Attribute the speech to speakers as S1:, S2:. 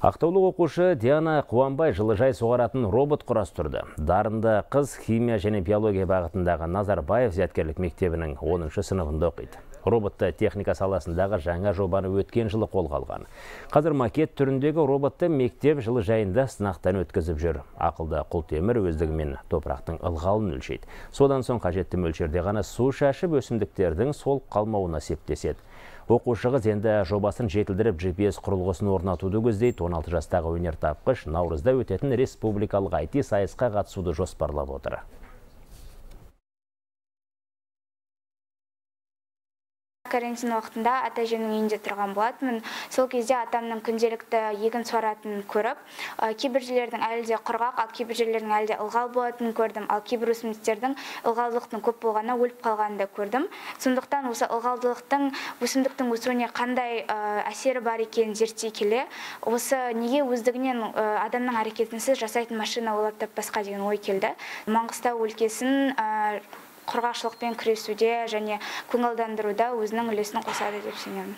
S1: Ақтаулық оқушы Диана Қуанбай жылыжай суғаратын робот құрастырды. Дарынды қыз химия және биология бағытындағы Назарбаев зияткерлік мектебінің 10-шы сыныбында оқиды. Роботты техника саласындағы жаңа жобаны өткен жылы қолға алған. Қазір макет түріндегі роботты мектеп жылыжайында сынақтан өткізіп жүр. Ақылды құлтемір өздігімен топырақтың ылғалын өлшейді. Содан соң қажетті мөлшерде ғана су шашып өсімдіктердің солып қалмауына септеседі. Оқушы қыз енді жобасын жетілдіріп GPS құрылғысын орнатуды көздейді. 16 жастағы өнертапқыш наурызда өтетін республикалық IT сайысқа қатысуды жоспарлап отыр.
S2: Карантин уақытында ата-әжемнің үйінде тұрған болатынмын. Сол кезде атамның күнделікті егін суаратын көріп, кейбір жерлердің әлі де құрғақ, ал кейбір жерлердің әлі де ылғал болатынын көрдім. Ал кейбір өсімдіктердің ылғалдылықтың көп болғанына өліп қалғанын да көрдім. Сондықтан осы ылғалдылықтың өсімдіктің өсуіне қандай әсері бар екенін зерттей келе, осы неге өздігінен адамның әрекетінсіз жасайтын машина ойлап таппасқа деген ой келді. Маңғыстау өлкесін құрғақшылықпен күресуде және көңілдендіруда өзінің үлесін қосады деп сенемін.